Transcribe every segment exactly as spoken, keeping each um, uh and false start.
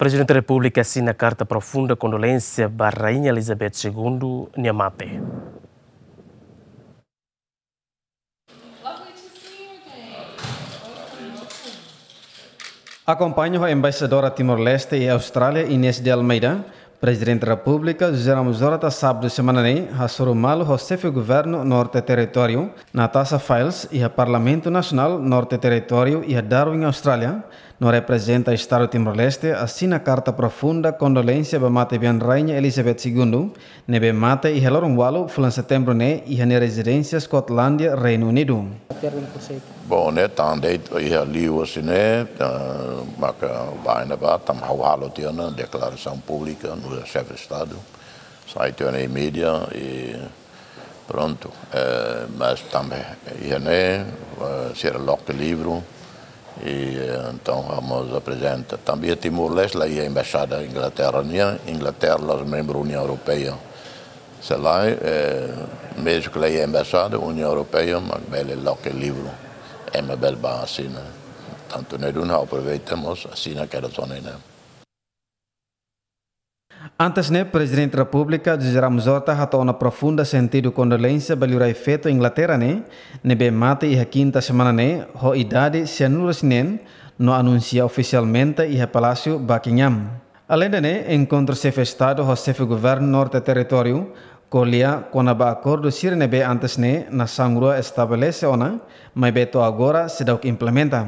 Prezidente Repúblika asina karta profunda kondolénsia ba Rainha Elizabeth Segundo nia mate. Akompaña ho Embaixadora Timor-Leste iha Austrália, Inês de Almeida, Prezidente Repúblika José Ramos Horta sábadu semana ne'e hasoru malu ho Xefe Governu Norte Territóriu, Natasha Fyles, iha Parlamentu Nasionál Norte Territóriu iha Darwin, Austrália, no reprezenta Estadu Timor-Leste asina karta profunda kondolénsia ba matebian Rainha Elizabeth Segundo, ne'ebé mate iha loron ualu fulan Setembru ne'e iha nia rezidénsia Skotlandia, Reinu Unidu. Bom, ne'e tan de'it iha liu hanesan ne'e, eh, maka bainhira ba, tanba ha'u halo tiha ona deklarasaun públika no Xefe Estadu, sai tiha ona iha mídia i prontu. Eh, mas tanba iha ne'e, eh, sira loke livru, i, eh, entaun, vamos aprezenta. Tanba iha Timor-Leste, la iha embaixada Inglaterra nian, Inglaterra la'ós membru Uniaun Europeia. Se lae, eh, mezmu ke la iha embaixada Uniaun Europeia, mak bele loke livru. Ema bele bá asina. Tantu ne'e duni ha'u aproveita mós asina kedas ona ne'e. Antes ne'e, Prezidente Repúblika José Ramos Horta hato'o ona profunda sentidu kondolénsia ba liurai feto Inglaterra ne'e, ne'ebé mate iha kinta semana ne'e, ho idade sianulu-resin-neen, no anunsia ofisialmente iha Palásiu Buckingham. Aleinde ne'e, enkontru Xefe Estadu ho Xefe Governu Norte Territóriu ko'alia kona-ba akordu sira ne'ebé antes ne'e nasaun rua estabelese ona, maibé to'o agora seidauk implementa.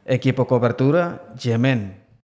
Ekipa kobertura, G M N.